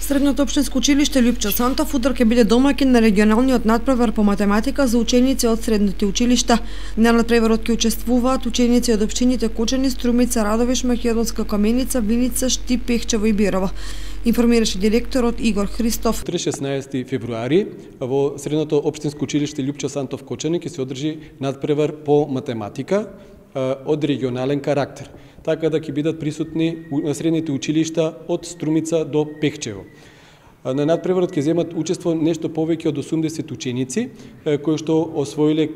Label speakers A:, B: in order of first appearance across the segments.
A: Средното општинско училиште Лјупчо Сантов утре ќе биде домаќин на регионалниот надпревар по математика за ученици од средните училишта. На надпреварот ќе учествуваат ученици од општините Кочани, Струмица, Радовиш, Македонска Каменица, Виница, Штип, Пехчево и Бирово. Информираше директорот Игор Христов.
B: 16 февруари во Средното општинско училиште Лјупчо Сантов Кочани ќе се одржи надпревар по математика од регионален карактер, така да ќе бидат присутни на средните училишта од Струмица до Пехчево. На надпреварот ќе земат учество нешто повеќе од 80 ученици кои што освоиле,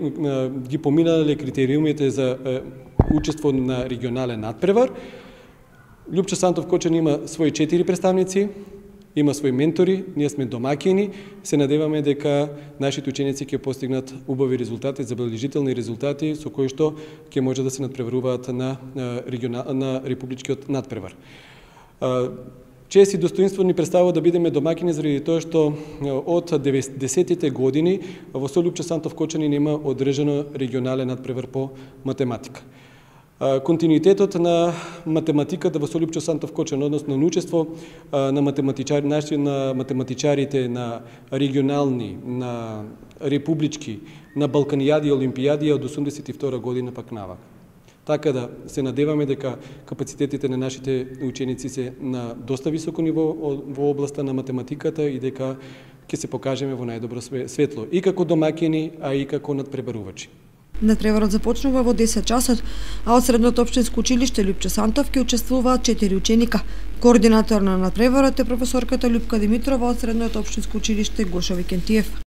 B: ги поминале критериумите за учество на регионален надпревар. Лјупчо Сантов Кочани има своји 4 представници, има своји ментори, ние сме домаќини, се надеваме дека нашите ученици ќе постигнат убави резултати, забележителни резултати со кои што ќе може да се надпреваруваат на републичкиот надпревар. Чест и достоинство ни представува да бидеме домаќини заради тоа што од 90-тите години во Лјупчо Сантов Кочани нема одржано регионален надпревар по математика. Континуитетот на математиката во Лјупчо Сантов Кочани, односно на учество на математичарите на регионални, на републички, на балканијади и олимпијади од 82 година пак навак. Така да се надеваме дека капацитетите на нашите ученици се на доста високо ниво во областа на математиката и дека ќе се покажеме во најдобро светло и како домаќини, а и како надпреварувачи.
A: Надпреварот започнува во 10 часот, а од Средното општинско училиште Лјупчо Сантов ќе учествуваат 4 ученика. Координатор на надпреварот е професорката Љупка Димитрова од Средното општинско училиште Гошо Викентиев.